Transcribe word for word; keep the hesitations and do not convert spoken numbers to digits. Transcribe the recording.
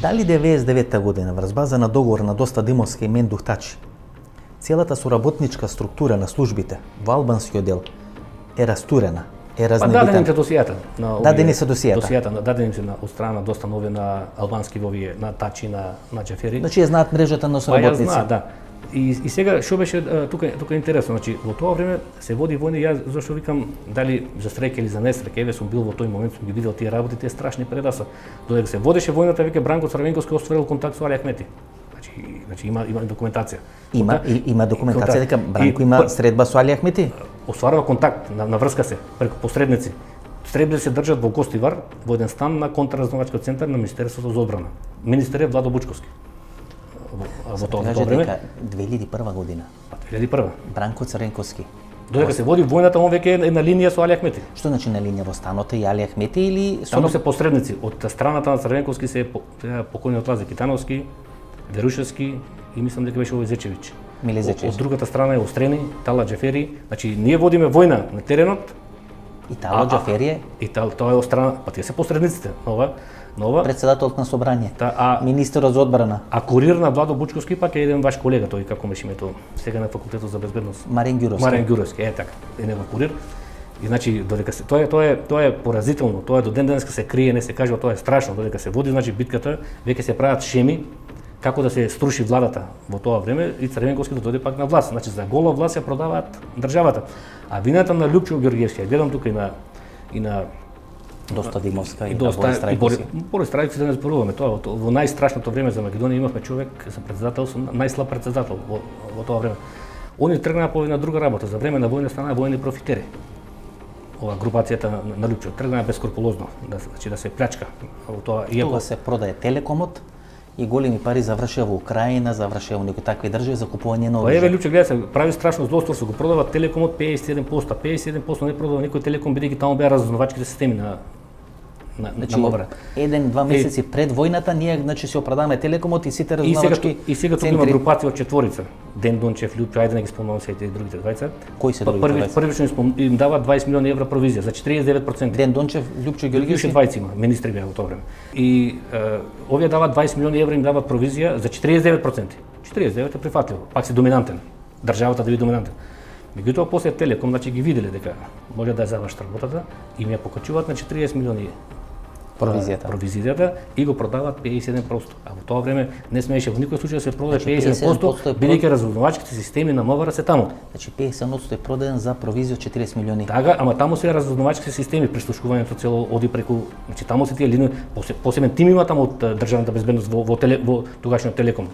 Дали деветдесет и девета година врз база на договор на Доста Димовска и Мендух Тачи, целата соработничка структура на службите во албанскиот дел е растурена, е разнебитена? Па дадени се досијата на овие, дадени се досијата. Досијата дадени се на од страна на Доста нови на албански во овие на Тачи на на Џафери. Значи ја знаат мрежата на соработници. Па ја знаат, да. И, и сега што беше тука тука е интересно, значи во тоа време се води војна, јас зашто викам дали за среќа или за несреќа, еве сум бил во тој момент, сум ги видел тие работи, тие страшни предаса. Додека се водеше војната, веќе Бранко Црвенковски остварил контакт со Али Ахмети. Значи, значи има има документација. Има и, има документација дека Бранко и, има средба со Али Ахмети. Остварува контакт, на, наврска се преку посредници. Средби се држат во Гостивар, во еден стан на контраразновачкиот центар на Министерството за одбрана. Министер е Владо Бучковски. Во тоа време две илјади и прва година. Па две илјади и прва. Бранко Црвенковски. Додека се води војната, он веќе е на линија со Али Ахмети. Што значи на линија во станот и Али Ахмети или со Таму се посредници од страната на Црвенковски се покојниот Лазе Китановски, Верушевски и мислам дека беше овој Зечевич. Миле Зечевич. Од другата страна е Острени, Тала Џафери. Значи ние водиме војна на теренот. И Тала Џафери е? И тоа е од страна, па тие се посредниците. Нова Нова председателот на собрание, та, а, министерот за одбрана. А курир на Владо Бучковски пак е еден ваш колега, тој како беше името сега на факултетот за безбедност. Марен Ѓуровски. Марен Ѓуровски, е така, е негов курир. И значи додека се тоа е тоа е тоа е поразително, тоа е до ден денеска се крие, не се кажува, тоа е страшно, додека се води значи битката, веќе се прават шеми како да се струши владата во тоа време и Црвенковски да дојде пак на власт. Значи за гола власт ја продаваат државата. А вината на Лјупчо Ѓорѓевски, гледам тука и на и на Доста Димовска и, и на Борис Трајковски. Борис Трајковски да не зборуваме, тоа во најстрашното време за Македонија имавме човек за председател, најслаб председател во, во тоа време. Они тргнаа по една друга работа, за време на војна станаа војни профитери. Ова групацијата на, на Лјупчо тргнаа бескрупулозно, да значи да се плячка во тоа. Иако Тога се продае Телекомот и големи пари завршија во Украина, завршија во некои такви држави за купување на оружје. Па еве Лјупчо гледа се прави страшно злоство, се го продава Телекомот пеесет и седум проценти, пеесет и седум проценти не продава никој Телеком бидејќи таму беа разузнавачките системи на на значи, на Мовра. Еден-два месеци е, пред војната ние значи се оправдаваме Телекомот и сите разузнавачки. И сега тука има групација од четворица. Ден Дончев, Лјупчо, ајде не ги спомнувам сите другите двајца. Кои се другите двајца? Првично им дава дваесет милиони евра провизија за четириесет и девет проценти. Ден Дончев, Лјупчо Ѓорѓевски дваесет има, министри беа во тоа време. И е, овие даваат дваесет милиони евра им даваат провизија за четириесет и девет проценти. четириесет и девет е прифатливо, пак си доминантен. Државата да биде доминантен. Меѓутоа после Телеком значи ги виделе дека може да ја завршат работата и ми ја покачуваат на четириесет милиони провизијата. Провизијата и го продаваат пеесет и седум проценти. А во тоа време не смееше во никој случај да се продаде значи, пеесет и седум проценти, бидејќи разузнавачките системи на Мовра се таму. Значи пеесет и седум проценти е продаден за провизија од четириесет милиони. Така, ама таму се разузнавачките системи, прислушкувањето цело оди преку, значи таму се тие линии, посебен тим има таму од државната безбедност во во, теле, во тогашниот Телеком.